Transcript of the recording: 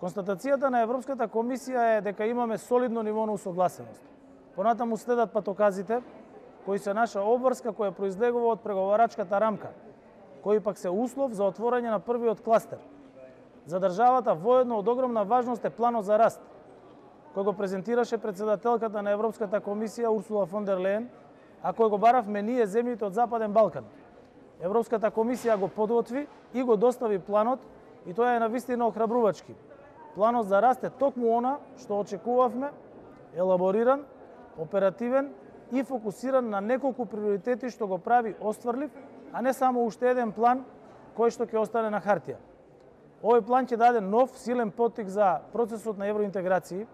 Констатацијата на Европската комисија е дека имаме солидно ниво на усогласеност. Понатаму следат патоказите, кои се наша обврска која произлегува од преговарачката рамка, кои пак се услов за отворање на првиот кластер. За државата воедно од огромна важност е планот за раст, кој го презентираше председателката на Европската комисија Урсула фон дер Лејен, а кој го баравме ние земјите од Западен Балкан. Европската комисија го подготви и го достави планот и тоа е навистина охрабрувачки. Планот за раст е токму она што очекувавме, елабориран, оперативен и фокусиран на неколку приоритети што го прави остварлив, а не само уште еден план кој што ќе остане на хартија. Овој план ќе даде нов, силен поттик за процесот на евроинтеграции,